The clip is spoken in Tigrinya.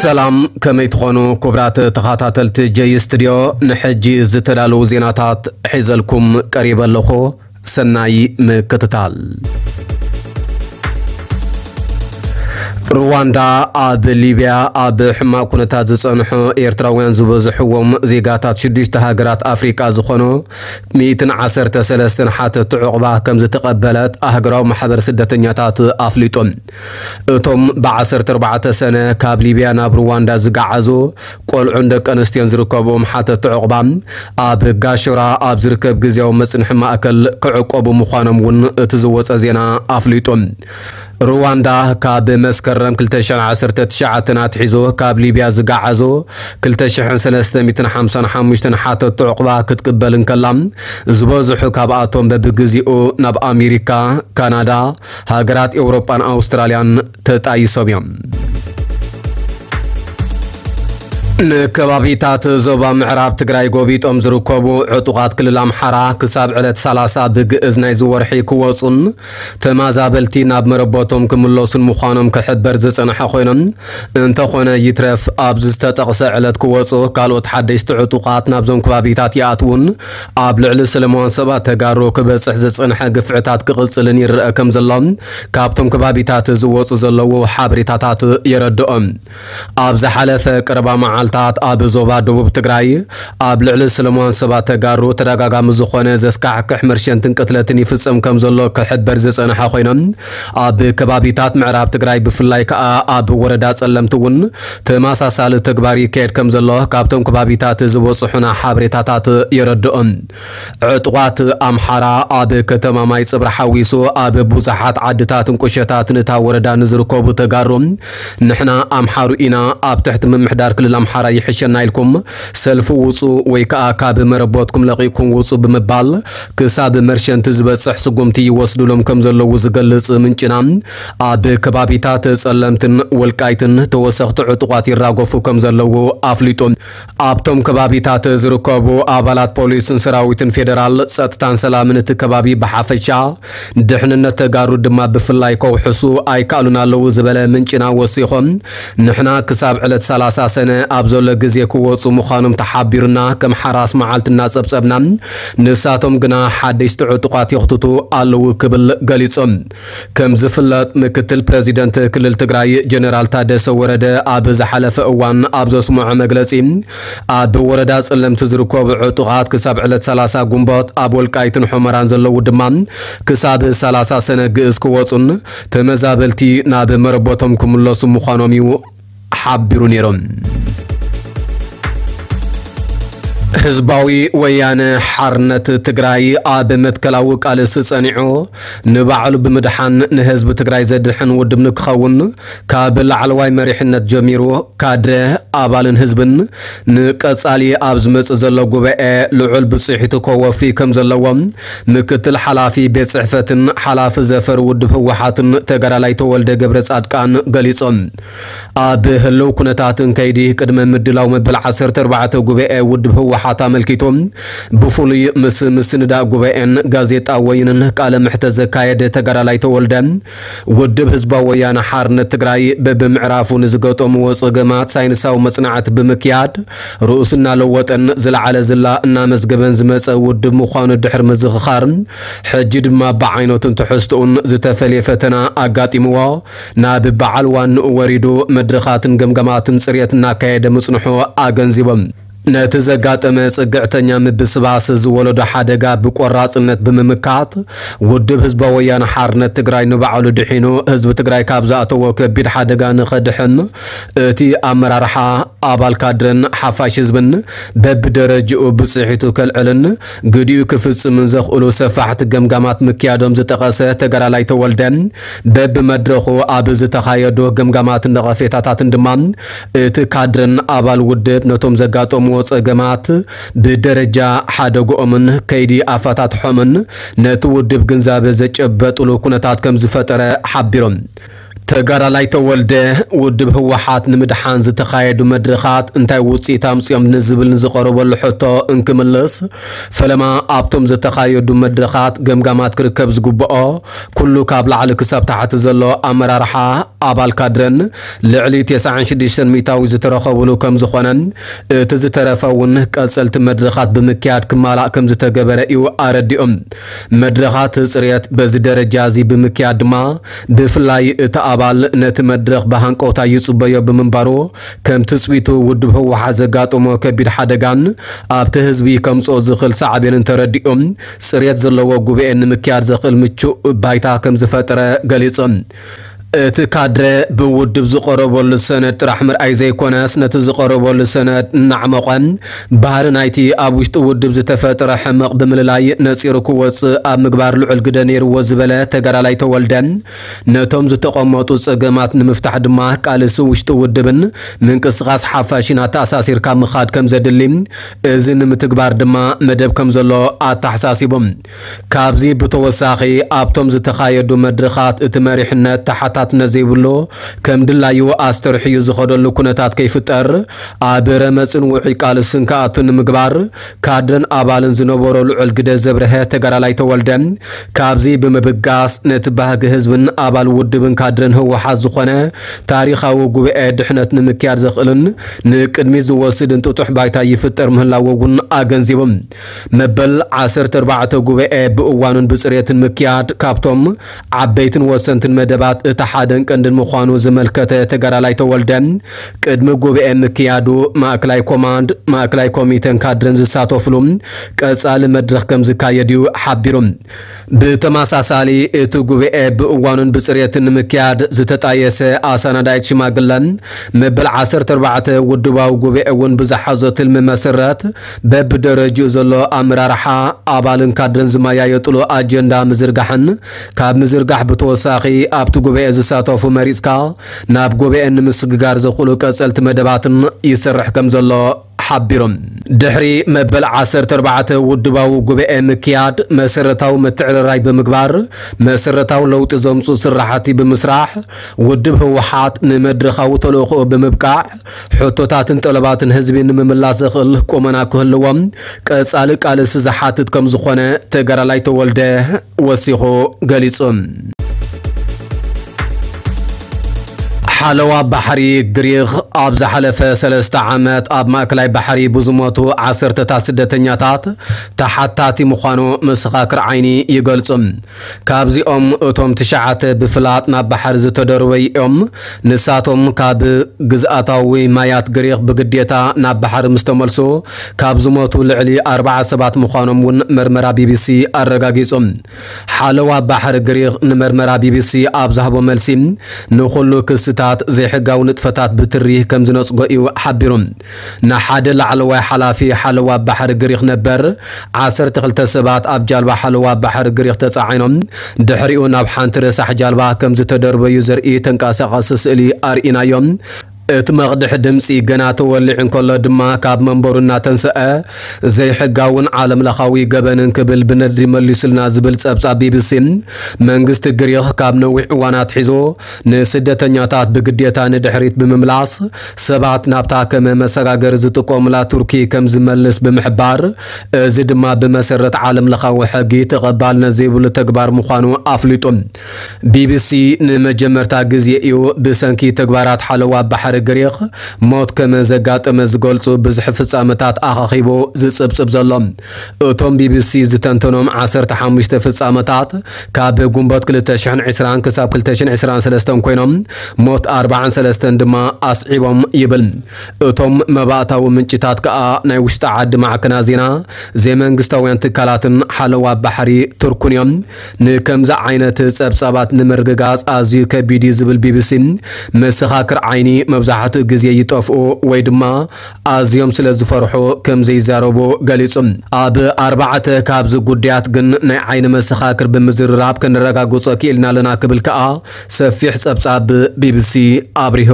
ሰላም፣ ከመይ ትኾኑ ክቡራት ተኸታተልቲ ጀይ ስቱድዮ? ንሕጂ ዝተዳለዉ ዜናታት ሒዘልኩም ቀሪበ ኣለኹ። ሰናይ ምክትታል። ሩዋንዳ ኣብ ሊብያ ኣብ ሕማቕ ኩነታት ዝጸንሑ ኤርትራውያን ዝበዝሕዎም ዜጋታት ሽዱሽተ ሃገራት ኣፍሪቃ ዝኾኑ ሚእትን ዓሰርተ ሰለስተን ሓተቲ ዑቕባ ከም ዝተቐበለት ኣህጉራዊ ማሕበር ስደተኛታት ኣፍሊጡ። እቶም ብዓሰርተ ኣርባዕተ ሰነ ካብ ሊብያ ናብ ሩዋንዳ ዝገዓዙ ቆልዑን ደቂ ኣንስትዮን ዝርከብዎም ሓተቲ ዑቕባ ኣብ ጋሾራ ኣብ ዝርከብ ግዝያዊ መጽንሒ ማእከል ክዕቆቡ ምዃኖም እውን እቲ ዝወጸ ዜና ኣፍሊጡ። ሩዋንዳ ካብ መስከረም ክልተ ሽሕን ዓሰርተ ትሽዓተን ኣትሒዙ ካብ ሊብያ ዝገዓዙ ክልተ ሽሕን ሰለስተ ሚእትን ሓምሳን ሓሙሽተን ሓተቲ ዑቕባ ክትቅበል እንከላ፣ ዝበዝሑ ካብኣቶም በብግዜኡ ናብ ኣሜሪካ፣ ካናዳ፣ ሃገራት ኤውሮጳን ኣውስትራልያን ተጣይሶም እዮም። ንከባቢታት ዞባ ምዕራብ ትግራይ ጎቢጦም ዝርከቡ ዕጡቓት ክልል ኣምሓራ ክሳብ ዕለት ሰላሳ ብግእዝ ናይዚ ወርሒ ክወፁን ተማዛበልቲ ናብ መረበቶም ክምለሱን ምዃኖም ክሕበር ዝጸንሐ ኮይኖም፣ እንተኾነ ይትረፍ ኣብዚ ዝተጠቕሰ ዕለት ክወፁ ካልኦት ሓደሽቲ ዕጡቓት ናብዞም ከባቢታት ይኣትውን ኣብ ልዕሊ ሰለማውያን ሰባት ተጋሩ ክበጽሕ ዝጸንሐ ግፍዕታት ክቕጽልን ይረአ ከም ዘሎ ካብቶም ከባቢታት ዝወፁ ዘለዉ ሓበሬታታት የረድኦም። ኣብ ዝሓለፈ ቀረባ መዓልታት ኣብ ዞባ ደቡብ ትግራይ ኣብ ልዕሊ ሰለማውያን ሰባት ተጋሩ ተደጋጋሚ ዝኾነ ዘስካሕክሕ መርሸንትን ቅትለትን ይፍጸም ከም ዘሎ ክሕበር ዝጸንሐ ኮይኖም፣ ኣብ ከባቢታት ምዕራብ ትግራይ ብፍላይ ከኣ ኣብ ወረዳ ጸለምቲ እውን ተመሳሳሊ ተግባር ይካየድ ከም ዘሎ ካብቶም ከባቢታት ዝበጽሑና ሓበሬታታት የረድኦም። ዕጡቓት ኣምሓራ ኣብ ከተማ ማይ ጽብራ ሓዊሱ ኣብ ብዙሓት ዓድታትን ቁሸታትን እታ ወረዳ ንዝርከቡ ተጋሩ ንሕና ኣምሓሩ ኢና፣ ኣብ ትሕቲ ምምሕዳር ክልል ኣምሓራ ይሕሸና ኢልኩም ሰልፊ ውጹ ወይ ከኣ ካብ መረቦትኩም ለቒቕኩም ውጹ ብምባል ክሳብ መርሸንቲ ዝበጽሕ ስጉምቲ ይወስዱሎም ከም ዘለዉ ዝገልጽ ምንጭና፣ ኣብ ከባቢታት ጸለምትን ወልቃይትን ተወሰኽቲ ዕጡቓት ይራገፉ ከም ዘለዉ ኣፍሊጡ። ኣብቶም ከባቢታት ዝርከቡ ኣባላት ፖሊስን ሰራዊትን ፌደራል ጸጥታን ሰላምን እቲ ከባቢ ብሓፈሻ ድሕንነት ተጋሩ ድማ ብፍላይ ከውሕሱ ኣይከኣሉን ኣለዉ ዝበለ ምንጭና ወሲኾም፣ ንሕና ክሳብ ዕለት ሰላሳ ሰነ ኣብ ዘሎ ግዜ ክወጹ ምዃኖም ተሓቢሩና ከም ሓራስ መዓልቲ እናጸብጸብና፣ ንሳቶም ግና ሓደሽቲ ዕጡቓት የኽትቱ ኣለዉ ክብል ገሊጾም። ከም ዝፍለጥ ምክትል ፕረዚደንት ክልል ትግራይ ጀነራል ታደሰ ወረደ ኣብ ዝሓለፈ እዋን ኣብ ዘስምዖ መግለጺ ኣብ ወረዳ ጸለምቲ ዝርከቡ ዕጡቓት ክሳብ ዕለት ሰላሳ ጉንቦት ኣብ ወልቃይትን ሑመራን ዘለዉ ድማ ክሳብ ሰላሳ ሰነ ግእዝ ክወጹን ተመዛበልቲ ናብ መረቦቶም ክምለሱ ምዃኖም እዩ ሓቢሩ ነይሩ። ህዝባዊ ወያነ ሓርነት ትግራይ ኣብ መትከላዊ ቃልሲ ጸኒዑ ንባዕሉ ብምድሓን ንህዝቢ ትግራይ ዘድሕን ውድብ ንክኸውን ካብ ላዕለዋይ መሪሕነት ጀሚሩ ካድረ ኣባልን ህዝብን ንቀጻሊ ኣብ ዝመጽእ ዘሎ ጉባኤ ልዑል ብጽሒቱ ከወፊ ከም ዘለዎም ምክትል ሓላፊ ቤት ጽሕፈትን ሓላፊ ዘፈር ውድብ ህወሓትን ተጋዳላይ ተወልደ ገብረ ጻድቃን ገሊጾም። ኣብ ህልው ኩነታትን ከይዲ ቅድመ ምድላው መበል ዓሰርተ ኣርባዕተ ጉባኤ ውድብ ህወሓት ኣመልኪቱ ብፍሉይ ምስ ምስንዳእ ጉባኤን ጋዜጣ ወይንን ቃለ ምሕተት ዘካየደ ተጋዳላይ ተወልደ፣ ውድብ ህዝባዊ ወያነ ሓርነት ትግራይ በብምዕራፉ ንዝገጠምዎ ጸገማት ሳይንሳዊ መጽናዕቲ ብምክያድ ርእሱ እናለወጠን ዝለዓለ ዝላ እናመዝገበን ዝመጸ ውድብ ምዃኑ ድሕሪ ምዝኽኻር፣ ሕጂ ድማ ብዓይነቱን ትሕዝትኡን ዝተፈልየ ፈተና ኣጋጢምዎ ናብ በዓል ዋንኡ ወሪዱ መድረኻትን ገምገማትን ጽርየት እናካየደ ምጽንሑ ኣገንዚቦም። ነቲ ዘጋጠመ ጽግዕተኛ ምብስባስ ዝወለዶ ሓደጋ ብቆራጽነት ብምምካት፣ ውድብ ህዝባዊ ወያነ ሓርነት ትግራይ ንባዕሉ ድሒኑ ህዝቢ ትግራይ ካብ ዝኣተዎ ከቢድ ሓደጋ ንኸድሕን፣ እቲ ኣመራርሓ፣ ኣባል ካድረን ሓፋሽ ህዝብን በብደረጅኡ ብጽሒቱ ከልዕልን ግዲኡ ክፍጽምን ዘኽእሉ ሰፋሕቲ ገምጋማት ምክያዶም ዝጠቐሰ ተጋዳላይ ተወልደ፣ በብመድረኹ ኣብ ዝተኻየዱ ገምጋማትን ነቐፌታታትን ድማ፣ እቲ ካድረን ኣባል ውድብ ነቶም ዘጋጠምዎ ጸገማት ብደረጃ ሓደግኦምን ከይዲ ኣፈታትሖምን ነቲ ውድብ ግንዛበ ዘጨበጥሉ ኩነታት ከም ዝፈጠረ ሓቢሮም። ተጋዳላይ ተወልደ፣ ውድብ ህወሓት ንምድሓን ዝተኻየዱ መድረኻት እንታይ ውፅኢት ኣምፅኦም ንዝብል ንዝቐረበሉ ሕቶ እንክምልስ፣ ፈለማ ኣብቶም ዝተኻየዱ መድረኻት ገምጋማት ክርከብ ዝግብኦ ኩሉ ካብ ላዕሊ ክሳብ ታሕቲ ዘሎ ኣመራርሓ ኣባል ካድረን ልዕሊ ተስዓን ሽዱሽተን ሚእታዊ ዝተረኸብሉ ከም ዝኾነን እቲ ዝተረፈ እውን ቀፀልቲ መድረኻት ብምክያድ ክማላእ ከም ዝተገበረ እዩ ኣረዲኦም። መድረኻት ጽሬት በዚ ደረጃ እዚ ብምክያድ ድማ ብፍላይ እቲ ኣባል ነቲ መድረኽ ብሃንቀውታ ይጽበዮ ብምንባሩ ከም ትጽቢቱ ውድብ ህወሓት ዘጋጠሞ ከቢድ ሓደጋን ኣብቲ ህዝቢ ከምጽኦ ዝኽእል ሳዕቤንን ተረዲኦም ጽሬት ዘለዎ ጉባኤ ንምክያድ ዘኽእል ምቹእ ባይታ ከም ዝፈጠረ ገሊጹ። እቲ ካድረ ብውድብ ዝቐረበሉ ሰነድ ጥራሕ ምርኣይ ዘይኮነስ፣ ነቲ ዝቐረበሉ ሰነድ እናዕመቖ፣ ባህሪ ናይቲ ኣብ ውሽጢ ውድብ ዝተፈጥረ ሕመቕ ብምልላይ ነጺሩ ክወጽእ ኣብ ምግባር ልዑል ግደ ነይርዎ ዝበለ ተጋዳላይ ተወልደ፣ ነቶም ዝተቐመጡ ጸገማት ንምፍታሕ ድማ ቃልሲ ውሽጢ ውድብን ምንቅስቓስ ሓፋሽን ኣተኣሳሲርካ ምኻድ ከም ዘድሊ፣ እዚ ንምትግባር ድማ መደብ ከም ዘሎ ኣተሓሳሲቡ። ካብዚ ብተወሳኺ፣ ኣብቶም ዝተኻየዱ መድረኻት እቲ መሪሕነት ተሓታትነት ዘይብሉ፣ ከም ድላዩ ኣስተርሕዩ ዝኸደሉ ኩነታት ከይፍጠር፣ ኣብ ረመጽን ውዑይ ቃልስን ክኣቱ ንምግባር፣ ካድረን ኣባልን ዝነበሮ ልዑል ግደ ዘብርሀ ተጋዳላይ ተወልደ፣ ካብዚ ብምብጋስ ነቲ ባህጊ ህዝብን ኣባል ውድብን ካድረን ህወሓት ዝኾነ ታሪኻዊ ጉባኤ ድሕነት ንምክያድ ዘኽእልን ንቅድሚት ዝወስድን ጥጡሕ ባይታ ይፍጠር ምህላዉ እውን ኣገንዚቡ። መበል ዓሰርተ ኣርባዕተ ጉባኤ ብእዋኑን ብጽሬትን ምክያድ ካብቶም ዓበይትን ወሰንትን መደባት እቲ ሓደን ቀንድን ምዃኑ ዝመልከተ ተጋዳላይ ተወልደ፣ ቅድሚ ጉባኤ ምክያዱ ማእከላይ ኮማንድ፣ ማእከላይ ኮሚተን ካድረን ዝሳተፍሉ ቀጻሊ መድረኽ ከም ዝካየድ እዩ ሓቢሩ። ብተመሳሳሊ፣ እቲ ጉባኤ ብእዋኑን ብጽሬትን ንምክያድ ዝተጣየሰ ኣሰናዳኢት ሽማግለን መበል ዓሰርተ ኣርባዕተ ውድባዊ ጉባኤ እውን ብዝሓዞ ትልሚ መሰረት፣ በብደረጅኡ ዘሎ ኣመራርሓ፣ ኣባልን ካድረን ዝመያየጥሉ ኣጀንዳ ምዝርጋሕን፣ ካብ ምዝርጋሕ ብተወሳኺ ኣብቲ ጉባኤ ዝሳተፉ መሪጽካ ናብ ጉባኤ ንምስግጋር ዘኽእሉ ቀጸልቲ መደባትን ይሰርሕ ከም ዘሎ ሓቢሮም። ድሕሪ መበል ዓሰርተ ኣርባዕተ ውድባዊ ጉባኤ ምክያድ፣ መሰረታዊ ምትዕርራይ ብምግባር፣ መሰረታዊ ለውጢ ዘምጽኡ ስራሕቲ ብምስራሕ፣ ውድብ ህወሓት ንመድረኻዊ ተልእኾኡ ብምብቃዕ፣ ሕቶታትን ጠለባትን ህዝቢ ንምምላስ ዘኽእል ቁመና ክህልዎም ቀጻሊ ቃልሲ ዝሓትት ከም ዝኾነ ተጋዳላይ ተወልደ ወሲኹ ገሊጹ። ሓለዋ ባሕሪ ግሪኽ ኣብ ዝሓለፈ ሰለስተ ዓመት ኣብ ማእከላይ ባሕሪ ብዝሞቱ ዓሰርተታት ስደተኛታት ተሓታቲ ምዃኑ መሰኻክር ዓይኒ ይገልጹ። ካብዚኦም እቶም ትሽዓተ ብፍላጥ ናብ ባሕሪ ዝተደርበዩ እዮም። ንሳቶም ካብ ግዝኣታዊ ማያት ግሪኽ ብግዴታ ናብ ባሕሪ ምስ ተመልሱ፣ ካብ ዝሞቱ ልዕሊ ኣርባዓ ሰባት ምዃኖም እውን መርመራ ቢቢሲ ኣረጋጊጹ። ሓለዋ ባሕሪ ግሪኽ ንመርመራ ቢቢሲ ኣብ ዝሃቦ መልሲ፣ ንኹሉ ክስታት ዘይሕጋዊ ንጥፈታት ብትሪ ከም ዝነጽጎ እዩ ሓቢሩ። ንሓደ ላዕለዋይ ሓላፊ ሓለዋ ባሕሪ ግሪኽ ነበር፣ ዓሰርተ ክልተ ሰባት ኣብ ጃልባ ሓለዋ ባሕሪ ግሪኽ ተጻዒኖም ድሕሪኡ ናብ ሓንቲ ረሳሕ ጃልባ ከም ዝተደርበዩ ዘርኢ ተንቀሳቓሲ ስእሊ ኣርኢናዮም። እቲ መቕድሒ ድምጺ ገና ተወሊዑ እንከሎ ድማ ካብ መንበሩ እናተንስአ ዘይሕጋውን ዓለም ለኻዊ ገበንን ክብል ብነድሪ መሊሱልና ዝብል ጸብጻብ ቢቢሲ፣ መንግስቲ ግሪኽ ካብ ነዊሕ እዋን ኣትሒዙ ንስደተኛታት ብግዴታ ንድሕሪት ብምምላስ ሰባት ናብታ ከም መሰጋገሪ ዝጥቀሙላ ቱርኪ ከም ዝመልስ ብምሕባር፣ እዚ ድማ ብመሰረት ዓለም ለኻዊ ሕጊ ተቐባልነት ዘይብሉ ተግባር ምዃኑ ኣፍሊጡ። ቢቢሲ ንመጀመርታ ግዜ እዩ ብሰንኪ ተግባራት ሓለዋ ባሕሪ ግሪኽ ሞት ከም ዘጋጠመ ዝገልጹ ብዙሕ ፍጻመታት ኣኻኺቡ ዝጽብጽብ ዘሎ። እቶም ቢቢሲ ዝተንተኖም ዓሰርተ ሓሙሽተ ፍጻመታት ካብ ጉንበት ክልተ ሽሕን ዕስራን ክሳብ ክልተ ሽሕን ዕስራን ሰለስተን ኮይኖም፣ ሞት ኣርባዓን ሰለስተን ድማ ኣስዒቦም ይብል። እቶም መባእታዊ ምንጭታት ከኣ ናይ ውሽጢ ዓዲ ማዕከናት ዜና፣ ዘይመንግስታውያን ትካላትን ሓለዋ ባሕሪ ቱርኩን እዮም። ንከምዚ ዓይነት ጸብጻባት ንምርግጋጽ ኣዝዩ ከቢድ እዩ ዝብል ቢቢሲ፣ መሰኻክር ዓይኒ መብዛሕትኡ ግዜ ይጠፍኡ ወይ ድማ ኣዝዮም ስለ ዝፈርሑ ከም ዘይዛረቡ ገሊጹ። ኣብ ኣርባዕተ ካብዚ ጉዳያት ግን ናይ ዓይኒ መሰኻክር ብምዝርራብ ከነረጋግጾ ክኢልና ኣለና ክብል ከኣ ሰፊሕ ጸብጻብ ቢቢሲ ኣብሪሁ።